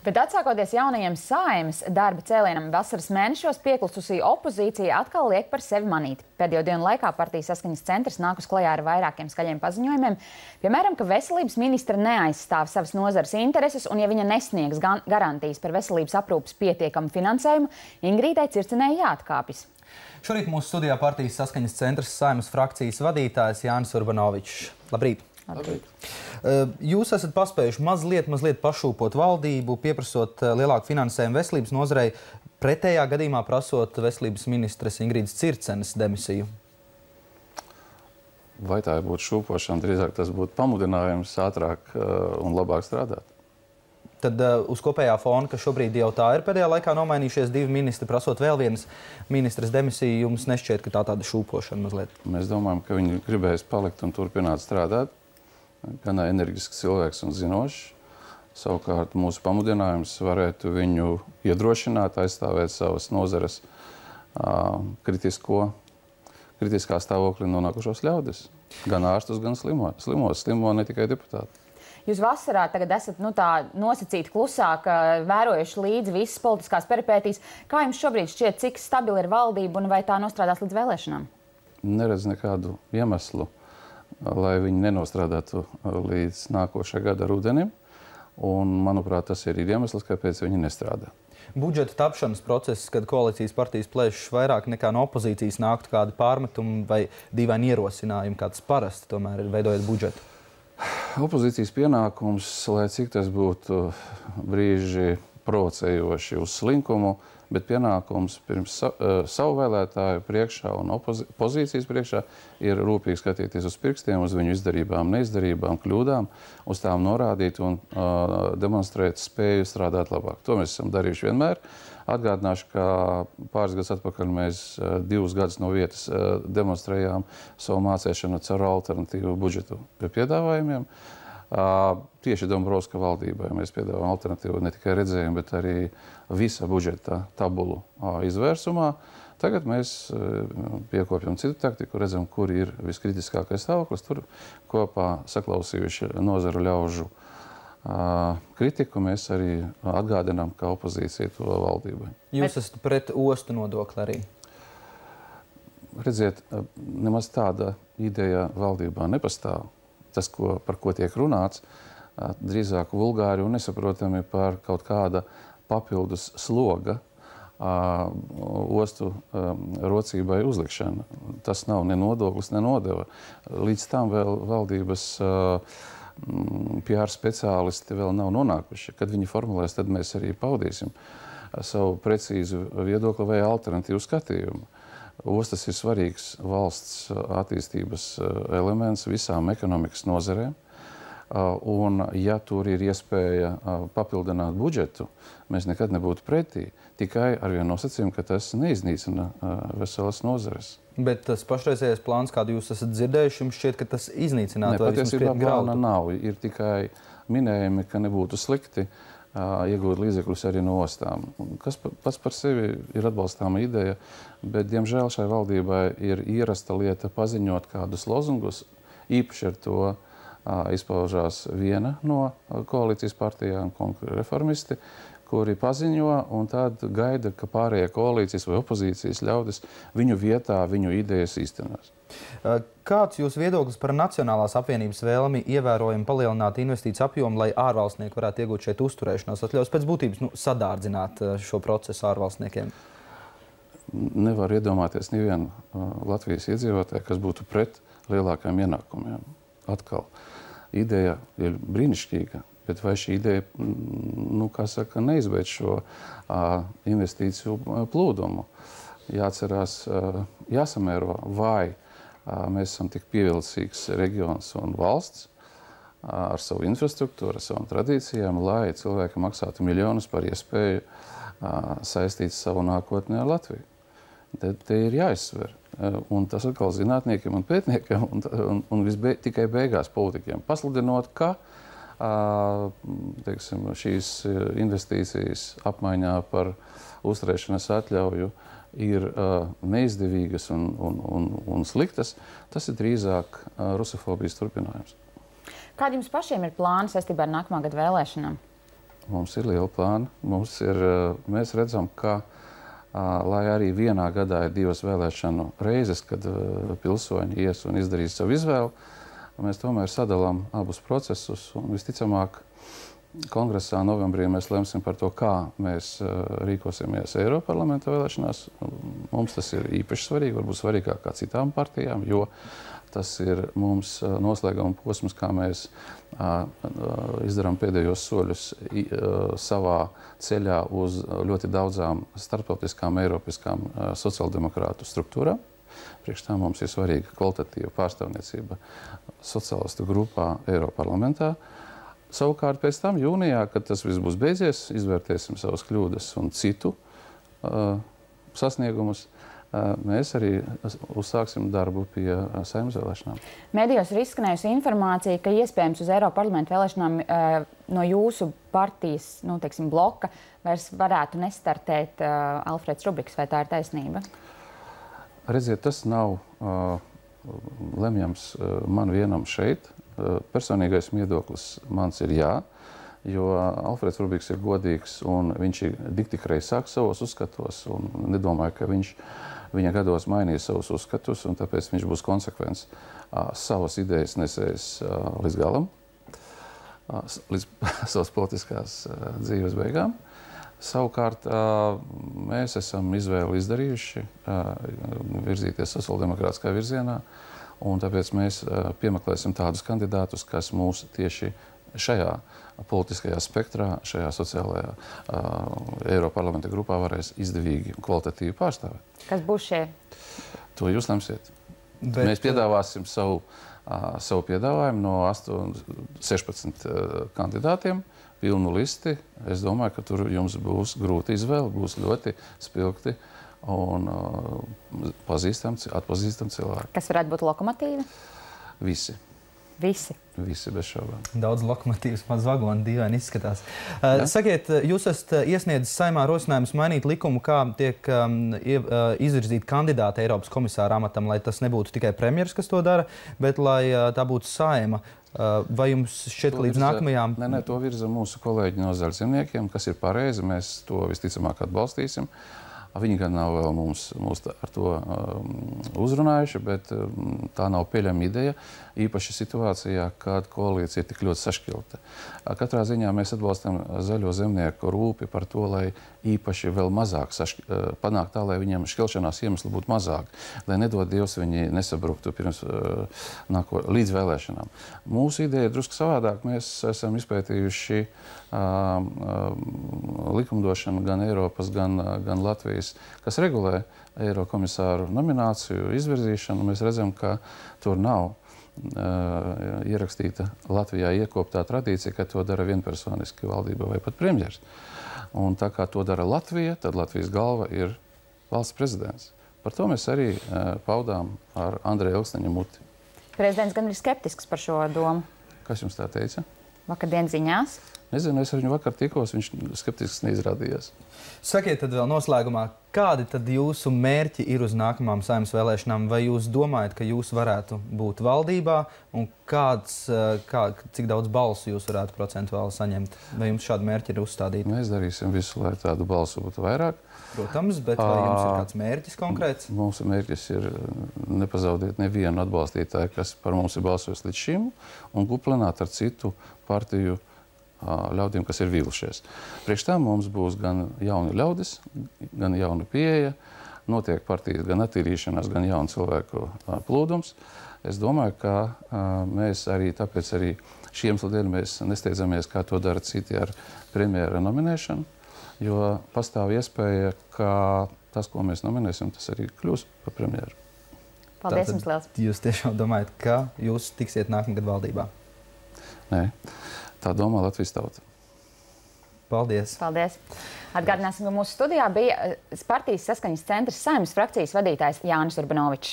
Bet atsākoties jaunajiem Saeimas darba cēlienam vasaras mēnešos, pieklususī opozīcija atkal liek par sevi manīt. Pēdējo dienu laikā partijas Saskaņas centrs nāk uz klajā ar vairākiem skaļiem paziņojumiem. Piemēram, ka veselības ministra neaizstāv savas nozares intereses, un ja viņa nesniegs garantijas par veselības aprūpes pietiekamu finansējumu, Ingrīdai Circinei jāatkāpjas. Šorīt mūsu studijā partijas Saskaņas centrs Saeimas frakcijas vadītājs Jānis Urbanovičs. Labrīt! Labrīt. Jūs esat paspējuši mazliet pašūpot valdību, pieprasot lielāku finansējumu veselības nozarei, pretējā gadījumā prasot veselības ministres Ingrīdas Circenes demisiju. Vai tā būtu šūpošana, drīzāk tas būtu pamudinājums ātrāk un labāk strādāt. Tad uz kopējā fona, ka šobrīd jau tā ir pēdējā laikā nomainījušies divi ministri, prasot vēl vienas ministres demisiju, jums nešķiet, ka tā tāda šūpošana mazliet? Mēs domājam, ka viņi gribēs palikt un turpināt strādāt. Gan enerģisks cilvēks un zinošs. Savukārt mūsu pamudinājums varētu viņu iedrošināt, aizstāvēt savas nozares kritiskā stāvoklī nonākušos ļaudis. Gan ārstus, gan slimos. Slimo ne tikai deputāti. Jūs vasarā tagad esat tā nosacīti klusāk, vērojuši līdzi visas politiskās peripētīs. Kā jums šobrīd šķiet, cik stabila ir valdība un vai tā nostrādās līdz vēlēšanām? Neredz nekādu iemeslu, lai viņi nenostrādātu līdz nākošā gada rudenim. Un, manuprāt, tas ir iemesls, kāpēc viņi nestrādā. Budžeta tapšanas process, kad koalīcijas partijas plēšas vairāk nekā no opozīcijas nāktu kādi pārmetumi vai dīvaini ierosinājumi, kā tas parasti tomēr ir veidojot budžetu? Opozīcijas pienākums, lai cik tas būtu brīži provocējoši uz slinkumu, bet pienākums pirms savu vēlētāju priekšā un pozīcijas priekšā ir rūpīgi skatīties uz pirkstiem, uz viņu izdarībām, neizdarībām, kļūdām, uz tām norādīt un demonstrēt spēju strādāt labāk. To mēs esam darījuši vienmēr. Atgādināšu, ka pāris gadus atpakaļ mēs 2 gadus no vietas demonstrējām savu mācēšanu caur alternatīvu budžetu piedāvājumiem. Tieši Dombrovska valdībai mēs piedāvājam alternatīvu ne tikai redzējumu, bet arī visa budžeta tabulu izvērsumā. Tagad mēs piekopjam citu taktiku, redzam, kur ir viskritiskākais stāvoklis. Tur kopā saklausījuši nozaru ļaužu kritiku, mēs arī atgādinām, ka opozīcija to valdībai. Jūs esat pret ostu nodokli arī? Redziet, nemaz tāda ideja valdībā nepastāv. Tas, par ko tiek runāts, drīzāk vulgāri un nesaprotami par kaut kāda papildus sloga ostu rocībai uzlikšana. Tas nav ne nodoklis, ne nodeva. Līdz tam vēl valdības PR speciālisti vēl nav nonākuši. Kad viņi formulēs, tad mēs arī paudīsim savu precīzu viedokli vai alternatīvu skatījumu. Ostas ir svarīgs valsts attīstības elements visām ekonomikas nozarēm. Un, ja tur ir iespēja papildināt budžetu, mēs nekad nebūtu pretī. Tikai ar vienu nosacījumu, ka tas neiznīcina veselas nozares. Bet tas pašreizējais plāns, kādu jūs esat dzirdējuši, jums šķiet, ka tas iznīcinātu vai vismaz patiesībā grautu? plāna nav. Ir tikai minējumi, ka nebūtu slikti iegūt līdzekļus arī no ostām. Kas pats par sevi ir atbalstāma ideja, bet, diemžēl, šai valdībai ir ierasta lieta paziņot kādus lozungus. Īpaši ar to izpaužās viena no koalīcijas partijām, reformisti, kuri paziņo un tad gaida, ka pārējie koalīcijas vai opozīcijas ļaudis viņu vietā, viņu idejas īstenos. Kāds jūs viedoklis par Nacionālās apvienības vēlmi ievērojami palielināt investīciju apjomu, lai ārvalstnieki varētu iegūt šeit uzturēšanās atļaus, pēc būtības sadārdzināt šo procesu ārvalstniekiem? Nevar iedomāties nevienu Latvijas iedzīvotāju, kas būtu pret lielākajiem ienākumiem. Atkal, ideja ir brīnišķīga, bet vai šī ideja, neizbeidz šo investīciju plūdumu? Jāatcerās, jāsamēro, vai mēs esam tik pievilcīgs reģions un valsts ar savu infrastruktūru, ar savām tradīcijām, lai cilvēki maksātu miljonus par iespēju saistīt savu nākotni ar Latviju. Te ir jāizsver. Un tas atkal zinātniekiem un pētniekiem un tikai beigās politikiem. Pasludinot, ka šīs investīcijas apmaiņā par uzturēšanas atļauju ir neizdevīgas un sliktas, tas ir drīzāk rusofobijas turpinājums. Kādi jums pašiem ir plāni saistībā ar nākamā gada vēlēšanām? Mums ir liela plāna. Mēs redzam, ka, lai arī vienā gadā ir 2 vēlēšanu reizes, kad pilsoņi ies un izdarīs savu izvēli, mēs tomēr sadalām abus procesus. Un visticamāk, kongresā novembrī mēs lemsim par to, kā mēs rīkosimies Eiroparlamenta vēlēšanās. Mums tas ir īpaši svarīgi, varbūt svarīgāk kā citām partijām, jo tas ir mums noslēguma posms, kā mēs izdarām pēdējos soļus savā ceļā uz ļoti daudzām starptautiskām, eiropiskām sociāldemokrātu struktūrām. Priekš tā mums ir svarīga kvalitatīva pārstāvniecība sociālistu grupā Eiroparlamentā. Savukārt pēc tam jūnijā, kad tas viss būs beidzies, izvērtēsim savas kļūdas un citu sasniegumus. Mēs arī uzsāksim darbu pie Saeimas vēlēšanām. Medijos ir izskanējusi informācija, ka iespējams uz Eiroparlamenta vēlēšanām no jūsu partijas, bloka vairs varētu nestartēt Alfreds Rubiks. Vai tā ir taisnība? Redziet, tas nav lemjams man vienam šeit. Personīgais viedoklis mans ir jā, jo Alfreds Rubiks ir godīgs un viņš ir tik reizāk savos uzskatos un nedomāju, ka viņa gados mainīs savus uzskatus, un tāpēc viņš būs konsekvents savas idejas nesējis līdz galam, līdz savas politiskās dzīves beigām. Savukārt mēs esam izvēli izdarījuši virzīties sociāldemokrātiskā virzienā, un tāpēc mēs piemeklēsim tādus kandidātus, kas mūs tieši šajā politiskajā spektrā, šajā sociālajā Eiroparlamenta grupā varēs izdevīgi un kvalitatīvi pārstāvēt. Kas būs šie? To jūs lemsiet. Mēs piedāvāsim savu piedāvājumu no 16 kandidātiem, pilnu listi. Es domāju, ka tur jums būs grūti izvēle, būs ļoti spilgti un atpazīstami cilvēki. Kas varētu būt lokomotīva? Visi. Visi? Visi, bez šaubām. Daudz lokomotīvas, maz vagoni, dīvaini izskatās. Sakiet, jūs esat iesniedzis Saeimā rosinājumus mainīt likumu, kā tiek izvirzīti kandidāti Eiropas komisāra amatam, lai tas nebūtu tikai premjeras, kas to dara, bet lai tā būtu Saeima. Vai jums šķiet, ka līdz nākamajām... Nē, to virza mūsu kolēģi no Zaļzemniekiem, kas ir pareizi, mēs to visticamāk atbalstīsim. Viņi gan nav vēl mūs ar to uzrunājuši, bet tā nav pieļama ideja, īpaši situācijā, kad koalīcija ir tik ļoti sašķilta. Katrā ziņā mēs atbalstam zaļo zemnieku rūpi par to, lai īpaši vēl mazāk panākt tā, lai viņiem šķelšanās iemesli būtu mazāk, lai nedod Dievs viņi nesabruktu pirms līdz vēlēšanām. Mūsu ideja ir drusku savādāk. Mēs esam izpētījuši likumdošanu gan Eiropas, gan Latvijas, kas regulē Eirokomisāru nomināciju, izvirzīšanu. Mēs redzam, ka tur nav ierakstīta Latvijā iekoptā tradīcija, ka to dara vienpersoniski valdība vai pat premjers. Un tā kā to dara Latvija, tad Latvijas galva ir valsts prezidents. Par to mēs arī paudām ar Andreja Ilksteņa muti. Prezidents gan ir skeptisks par šo domu. Kas jums tā teica? Vakardien ziņās. Nezinu, es ar viņu vakar tikos, viņš skeptisks neizrādījās. Sakiet tad vēl noslēgumā, kādi tad jūsu mērķi ir uz nākamām Saeimas vēlēšanām? Vai jūs domājat, ka jūs varētu būt valdībā un cik daudz balsu jūs varētu procentuāli saņemt? Vai jums šādi mērķi ir uzstādīti? Mēs darīsim visu, lai tādu balsu būtu vairāk. Protams, bet vai jums ir kāds mērķis konkrēts? Mūsu mērķis ir nepazaudēt nevienu atbalstītāju, kas par mums ir balsojis līdz šim, un kuplināt ar citu partiju ļaudīm, kas ir vīlušies. Priekš tam mums būs gan jauni ļaudis, gan jauna pieeja, notiek partijas gan attīrīšanās, gan jaunu cilvēku plūdums. Es domāju, ka mēs tāpēc arī šī iemesla dēļ mēs nesteidzamies, kā to dara citi ar premjera nominēšanu, jo pastāv iespēja, ka tas, ko mēs nominēsim, tas arī kļūs par premjeru. Paldies jums liels. Jūs tiešām domājat, ka jūs tiksiet nākamgad valdībā? Nē. Tā domā Latvijas tauta. Paldies. Paldies. Atgādināsim, ka mūsu studijā bija partijas Saskaņas centra Saeimas frakcijas vadītājs Jānis Urbanovičs.